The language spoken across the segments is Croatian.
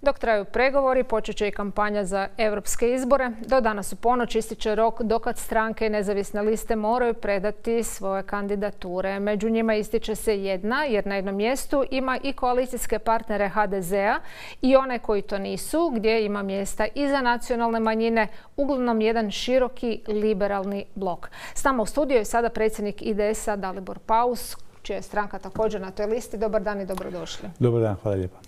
Dok traju pregovori, počet će i kampanja za europske izbore. Do danas u ponoć ističe rok dokad stranke i nezavisne liste moraju predati svoje kandidature. Među njima ističe se jedna, jer na jednom mjestu ima i koalicijske partnere HDZ-a i one koji to nisu, gdje ima mjesta i za nacionalne manjine, uglavnom jedan široki liberalni blok. S nama u studiju je sada predsjednik IDS-a Dalibor Paus, čija je stranka također na toj listi. Dobar dan i dobrodošli. Dobar dan, hvala lijepa.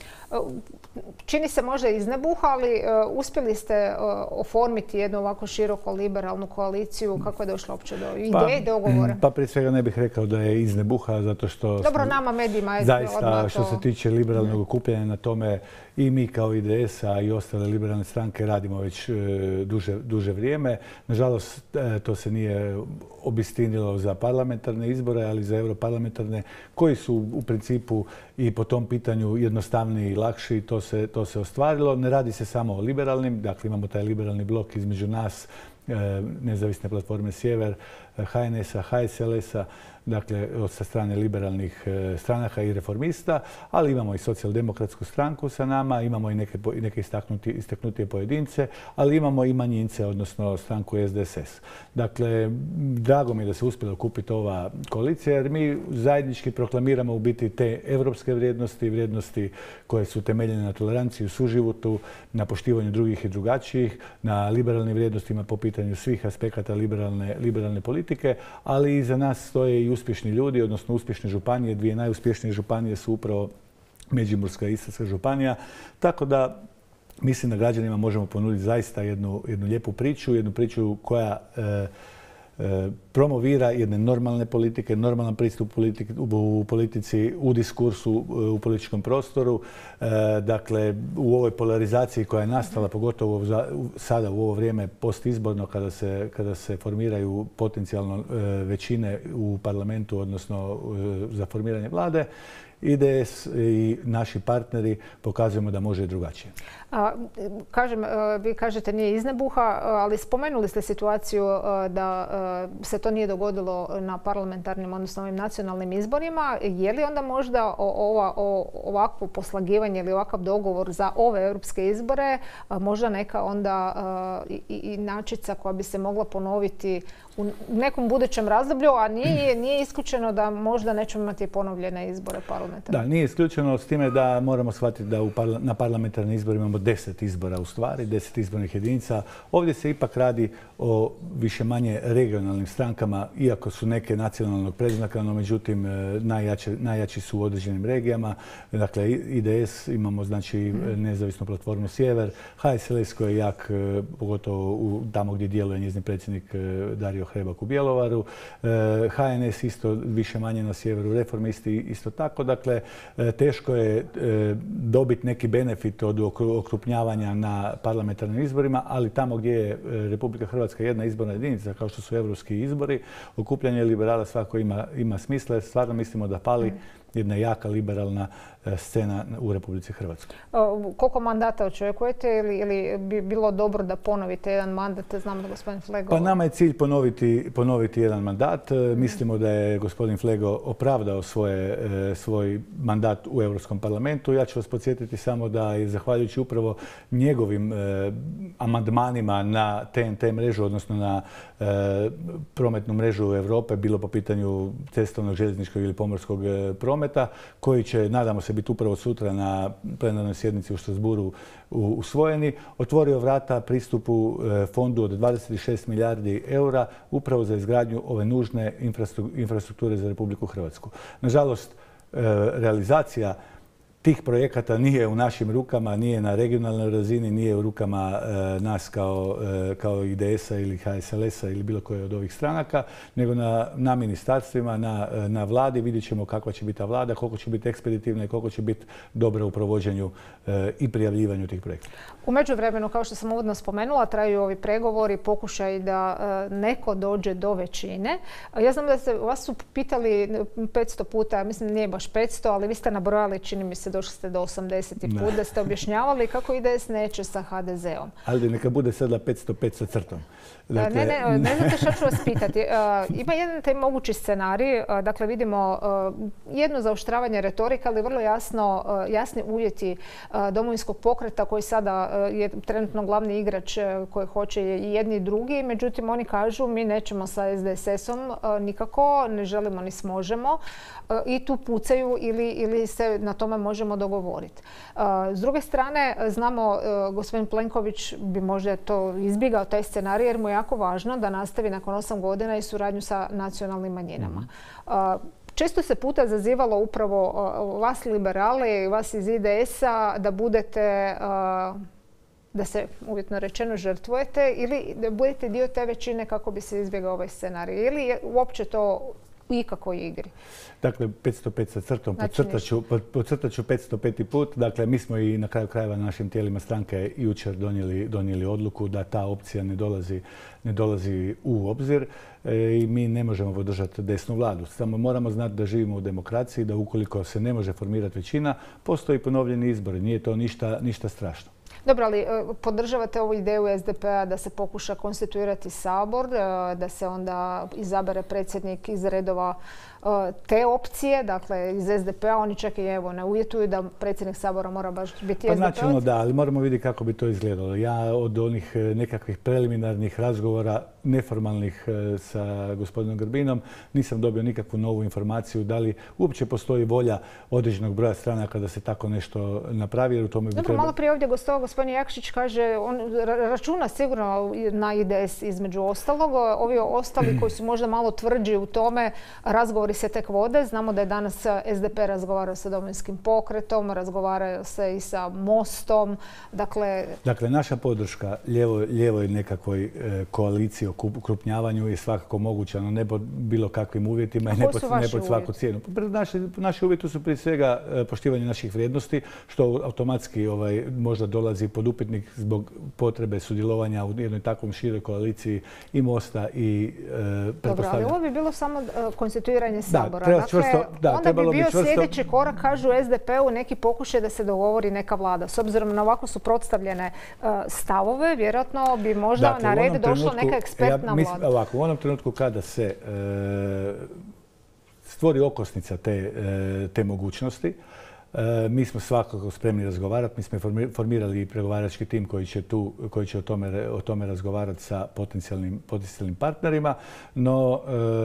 Čini se možda iz nebuha, ali uspjeli ste oformiti jednu ovako široko liberalnu koaliciju. Kako je došlo uopće do ideje, dogovora? Pa prije svega ne bih rekao da je iz nebuha, zato što... Dobro, nama medijima je zaista, što se tiče liberalnog okupljanja na tome, i mi kao IDS, a i ostale liberalne stranke radimo već duže vrijeme. Nažalost, to se nije obistinilo za parlamentarne izbore, ali za europarlamentarne, koji su u principu i po tom pitanju jednostavniji i lakši. To se ostvarilo. Ne radi se samo o liberalnim, dakle imamo taj liberalni blok između nas, Nezavisne platforme Sjever, HNS-a, HSLS-a, dakle sa strane liberalnih stranaka i reformista, ali imamo i socijaldemokratsku stranku sa nama, imamo i neke istaknutije pojedince, ali imamo i manjince, odnosno stranku SDSS. Dakle, drago mi je da se uspjela okupiti ova koalicija, jer mi zajednički proklamiramo u biti te evropske vrijednosti koje su temeljene na toleranciji, suživotu, na poštivanju drugih i drugačijih, na liberalnim vrijednostima po pitanju svih aspekata liberalne politike, ali iza nas stoje i uspješni ljudi, odnosno uspješne županije. Dvije najuspješnije županije su upravo Međimurska i Istarska županija. Tako da mislim da građanima možemo ponuditi zaista jednu lijepu priču, jednu priču koja promovira jedne normalne politike, normalan pristup u politici, u diskursu, u političkom prostoru. Dakle, u ovoj polarizaciji koja je nastala, pogotovo sada u ovo vrijeme postizborno, kada se formiraju potencijalno većine u parlamentu, odnosno za formiranje vlade, IDS i naši partneri pokazujemo da može i drugačije. Vi kažete nije iz nebuha, ali spomenuli ste situaciju da se to nije dogodilo na parlamentarnim, odnosno ovim nacionalnim izborima. Je li onda možda ovakvo poslagivanje ili ovakav dogovor za ove europske izbore možda neka onda i inačica koja bi se mogla ponoviti u nekom budućem razdoblju, a nije isključeno da možda nećemo imati ponovljene izbore parlamentarne? Da, nije isključeno, s time da moramo shvatiti da na parlamentarnim izborima imamo 10 izbora u stvari, 10 izbornih jedinica. Ovdje se ipak radi o više manje regionalnim strankama, iako su neke nacionalnog predznaka, no međutim najjači su u određenim regijama. Dakle, IDS imamo znači Nezavisnu platformu Sjever, HSLS koji je jak, pogotovo tamo gdje djeluje njezin predsjednik Dario Hrebak u Bjelovaru, HNS isto više manje na sjeveru, reformisti isto tako. Dakle, teško je dobiti neki benefit od okrupnjavanja na parlamentarnim izborima, ali tamo gdje je Republika Hrvatska jedna izborna jedinica, kao što su europski izbori, okupljanje liberala svako ima smisla, jer stvarno mislimo da fali jedna jaka liberalna scena u Republici Hrvatskoj. Koliko mandata očekujete ili bi bilo dobro da ponovite jedan mandat? Znam da gospodin Flego... Pa nama je cilj ponoviti jedan mandat. Mislimo da je gospodin Flego opravdao svoj mandat u Europskom parlamentu. Ja ću vas podsjetiti samo da je zahvaljujući upravo njegovim amandmanima na TNT mrežu, odnosno na prometnu mrežu Europe, bilo po pitanju cestovnog, željezničkog ili pomorskog prometa, koji će, nadamo se, biti upravo sutra na plenarnoj sjednici u Strasbourgu usvojeni, otvorio vrata pristupu fondu od 26 milijardi eura upravo za izgradnju ove nužne infrastrukture za Republiku Hrvatsku. Nažalost, realizacija tih projekata nije u našim rukama, nije na regionalnoj razini, nije u rukama nas kao IDS-a ili HSLS-a ili bilo koje od ovih stranaka, nego na ministarstvima, na vladi. Vidjet ćemo kakva će biti ta vlada, koliko će biti ekspeditivna i koliko će biti dobra u provođenju i prijavljivanju tih projekata. U međuvremenu, kao što sam uvodno spomenula, traju ovi pregovori, pokušaj da neko dođe do većine. Ja znam da vas su pitali 500 puta, mislim nije baš 500, ali vi ste nabrojali, čini mi se, se, došli ste do 80. put, da ste objašnjavali kako IDS neće sa HDZ-om. Ali neka bude sada 505 sa crtom. Dakle, ne znate što ću vas pitati. Ima jedan taj mogući scenarij, dakle vidimo jedno zaoštravanje retorika, ali vrlo jasni uvjeti Domovinskog pokreta koji sada je trenutno glavni igrač koji hoće i jedni i drugi. Međutim, oni kažu mi nećemo sa SDSS-om nikako, ne želimo ni smožemo i tu pucaju ili se na tome možemo dogovoriti. S druge strane, znamo gospodin Plenković bi možda to izbjegao taj scenarij jer mu je jako važno da nastavi nakon 8 godina i suradnju sa nacionalnim manjinama. Često se puta zazivalo upravo vas liberale i vas iz IDS-a da budete, da se uvjetno rečeno žrtvujete ili da budete dio te većine kako bi se izbjegao ovaj scenarij. Ili je uopće to u ikakvoj igri? Dakle, 505 sa crtom, podcrtat ću 505. put. Dakle, mi smo i na kraju krajeva našim tijelima stranke jučer donijeli odluku da ta opcija ne dolazi u obzir i mi ne možemo podržati desnu vladu. Samo moramo znati da živimo u demokraciji, da ukoliko se ne može formirati većina, postoji ponovljeni izbori. Nije to ništa strašno. Dobro, ali podržavate ovu ideju SDP-a da se pokuša konstituirati Sabor, da se onda izabere predsjednik iz redova te opcije, dakle iz SDP-a, oni čak i evo ne uvjetuju da predsjednik Sabora mora baš biti SDP-ovac? Načelno da, ali moramo vidjeti kako bi to izgledalo. Ja od onih nekakvih preliminarnih razgovora, neformalnih sa gospodinom Grbinom, nisam dobio nikakvu novu informaciju da li uopće postoji volja određenog broja stranaka da se tako nešto napravi. Jer u tome Dobro, malo prije ovdje gospodin Jakšić kaže, on računa sigurno na IDS između ostalog. Ovi ostali koji su možda malo tvrđi u tome, razgovori se tek vode. Znamo da je danas SDP razgovarao sa Domovinskim pokretom, razgovarao se i sa Mostom. Dakle, naša podrška lijevoj nekakvoj koaliciji o ukrupnjavanju je svakako moguća, no ne pod bilo kakvim uvjetima i ne pod svaku cijenu. Naši uvjeti su prije svega poštivanje naših vrijednosti, što automatski možda dolazi pod upitnik zbog potrebe sudjelovanja u jednoj takvom široj koaliciji i Mosta i Dobro, ali ovo bi bilo samo konstituiranje Sabora. Onda bi bio sljedeći korak, kažu SDP-u, neki pokušaj da se dogovori neka vlada. S obzirom na ovako suprotstavljene stavove, vjerojatno bi možda na red došla neka ekspertna vlada. U onom trenutku kada se stvori okosnica te mogućnosti, mi smo svakako spremni razgovarati. Mi smo formirali pregovarački tim koji će o tome razgovarati sa potencijalnim partnerima. No,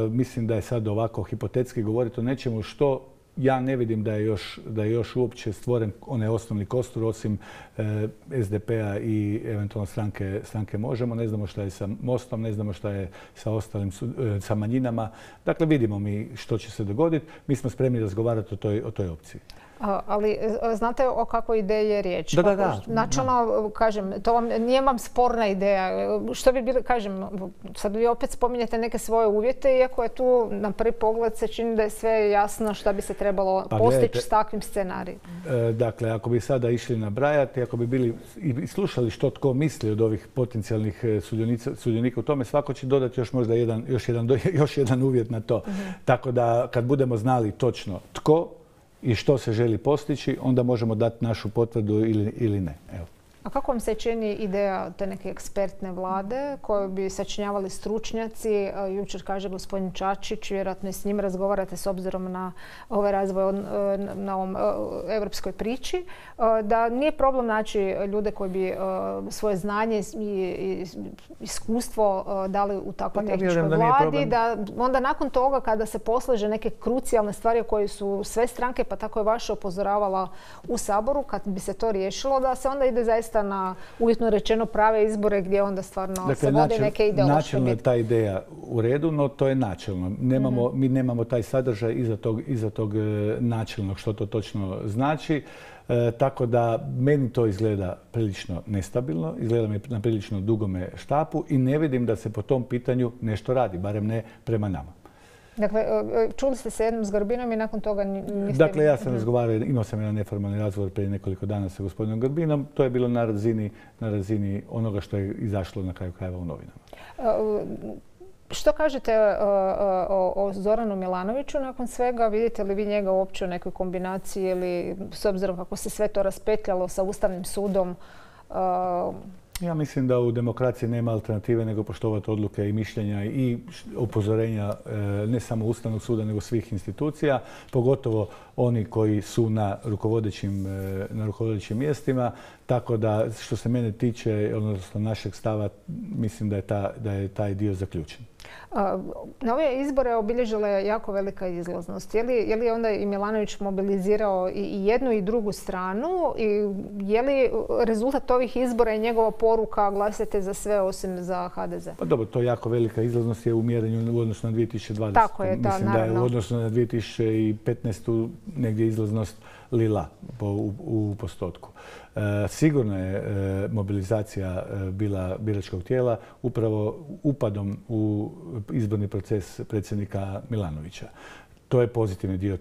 mislim da je sad ovako hipotetski govoriti o nečemu što ja ne vidim da je još uopće stvoren onaj osnovni kostur osim SDP-a i eventualno stranke Možemo. Ne znamo šta je sa Mostom, ne znamo šta je sa manjinama. Dakle, vidimo mi što će se dogoditi. Mi smo spremni razgovarati o toj opciji. Ali znate o kakvoj ideji je riječ? Da. Načelno, kažem, nije vam sporna ideja. Što bi bilo, kažem, sad vi opet spominjete neke svoje uvjete, iako je tu na prvi pogled se čini da je sve jasno šta bi se trebalo postići s takvim scenarijem. Dakle, ako bi sada išli nabrajati, ako bi bili i slušali što tko misli od ovih potencijalnih sudionika u tome, svako će dodati još možda još jedan uvjet na to. Tako da kad budemo znali točno tko i što se želi postići, onda možemo dati našu potvrdu ili ne. Evo. A kako vam se čini ideja te neke ekspertne vlade koju bi sačinjavali stručnjaci? Jučer kaže gospodin Čačić, vjerojatno i s njim razgovarate s obzirom na ovaj razvoj na ovom evropskoj priči, da nije problem naći ljude koji bi svoje znanje i iskustvo dali u takvoj tehničkoj vladi, da onda nakon toga kada se poslaže neke krucijalne stvari koje su sve stranke, pa tako je vaša upozoravala u Saboru, kad bi se to riješilo, da se onda ide zaista na uvjetno rečeno prave izbore gdje onda stvarno se vode neke ideološke bitke. Načelno je ta ideja u redu, no to je načelno. Mi nemamo taj sadržaj iza tog načelnog što to točno znači. Tako da meni to izgleda prilično nestabilno, izgleda mi na prilično dugome štapu i ne vidim da se po tom pitanju nešto radi, barem ne prema nama. Dakle, čuli ste se jednom s Grbinom i nakon toga niste... Dakle, ja sam razgovarao, imao sam jedan neformalni razgovor prije nekoliko dana sa gospodinom Grbinom. To je bilo na razini onoga što je izašlo na kraju krajeva u novinama. Što kažete o Zoranu Milanoviću nakon svega? Vidite li vi njega uopće u nekoj kombinaciji ili s obzirom kako se sve to raspetljalo sa Ustavnim sudom? Ja mislim da u demokraciji nema alternative nego poštovati odluke i mišljenja i upozorenja ne samo Ustavnog suda nego svih institucija, pogotovo oni koji su na rukovodećim mjestima. Tako da što se mene tiče, odnosno našeg stava, mislim da je taj dio zaključen. Na ove izbore obilježila je jako velika izlaznost. Je li onda i Milanović mobilizirao i jednu i drugu stranu? I je li rezultat ovih izbora i njegova poruka glasite za sve osim za HDZ? Pa dobro, to jako velika izlaznost je u mjerenju u odnosu na 2020. Tako je, da, mislim naravno. Da je u odnosu na 2015. negdje izlaznost lila u postotku. Sigurno je mobilizacija bila biračkog tijela upravo upadom u izborni proces predsjednika Milanovića. To je pozitivni dio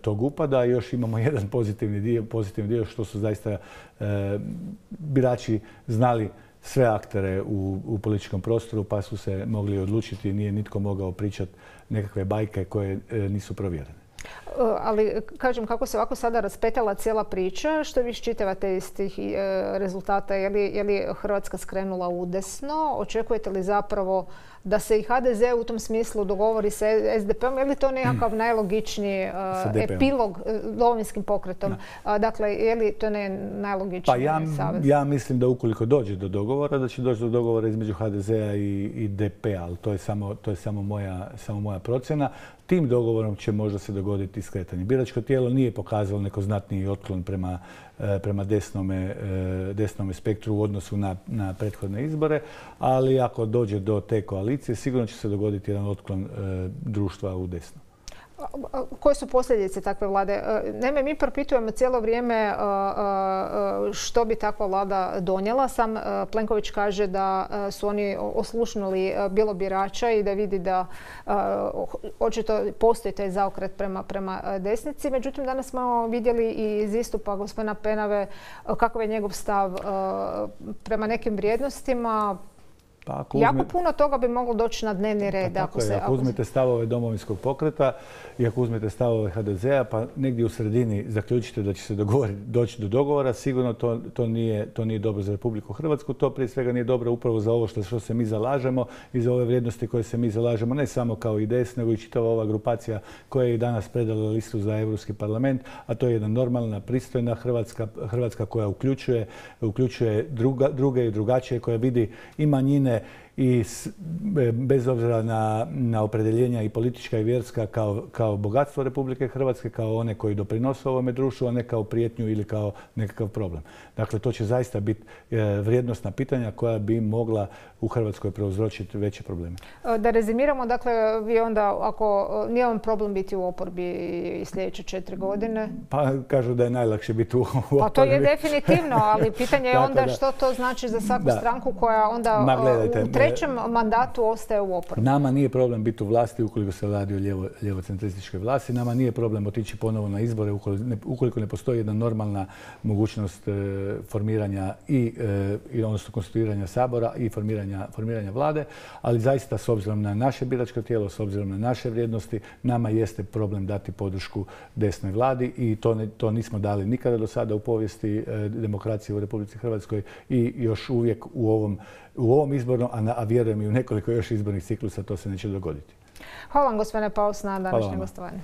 tog upada. Još imamo jedan pozitivni dio što su zaista birači znali sve aktere u političkom prostoru pa su se mogli odlučiti. Nije nitko mogao pričati nekakve bajke koje nisu provjerene. Ali, kažem, kako se ovako sada raspetala cijela priča, što vi iščitavate iz tih rezultata? Je li Hrvatska skrenula udesno? Očekujete li zapravo da se i HDZ u tom smislu dogovori sa SDP-om? Je li to nekakav najlogičniji epilog Domovinskim pokretom? Dakle, je li to najlogičniji savez? Ja mislim da ukoliko dođe do dogovora, da će doći do dogovora između HDZ-a i DP-a, ali to je samo moja procjena. Tim dogovorom će možda se dogoditi skretanje. Biračko tijelo nije pokazalo neko znatniji otklon prema desnome spektru u odnosu na prethodne izbore, ali ako dođe do te koalicije, sigurno će se dogoditi jedan otklon društva u desno. Koje su posljedice takve vlade? Naime, mi propitujemo cijelo vrijeme što bi takva vlada donijela. Sam Plenković kaže da su oni oslušnuli bilo birača i da vidi da očito postoji taj zaokret prema desnici. Međutim, danas smo vidjeli i iz istupa gospodina Penave kakav je njegov stav prema nekim vrijednostima. Jako puno toga bi moglo doći na dnevni red. Ako uzmete stavove Domovinskog pokreta i ako uzmete stavove HDZ-a, pa negdje u sredini zaključite da će se doći do dogovora, sigurno to nije dobro za Republiku Hrvatsku. To prije svega nije dobro upravo za ovo što se mi zalažemo i za ove vrijednosti koje se mi zalažemo, ne samo kao IDS, nego i čitava ova grupacija koja je i danas predala listu za Europski parlament, a to je jedna normalna, pristojna Hrvatska koja uključuje druge i drugačije, koja vidi i manjine i bez obzira na opredjeljenja i politička i vjerska kao bogatstvo Republike Hrvatske, kao one koji doprinose ovome društvu, a ne kao prijetnju ili kao nekakav problem. Dakle, to će zaista biti vrijednosna pitanja koja bi mogla u Hrvatskoj prouzročiti veće probleme. Da rezimiramo, dakle, vi onda, ako nije vam problem biti u oporbi i sljedeće 4 godine? Pa kažu da je najlakše biti u oporbi. Pa to je definitivno, ali pitanje je onda što to znači za svaku stranku koja onda u trećem mandatu ostaje u oporbi. Nama nije problem biti u vlasti ukoliko se radi o ljevocentrističkoj vlasti. Nama nije problem otići ponovo na izbore ukoliko ne postoji jedna normalna mogućnost formiranja odnosno konstituiranja Sabora i formiranja vlade. Ali zaista, s obzirom na naše biračko tijelo, s obzirom na naše vrijednosti, nama jeste problem dati podršku desnoj vladi i to nismo dali nikada do sada u povijesti demokracije u Republici Hrvatskoj i još uvijek u ovom izbornom, a vjerujem i u nekoliko još izbornih ciklusa to se neće dogoditi. Hvala vam, gospodine Paus, na današnjem gostovanju.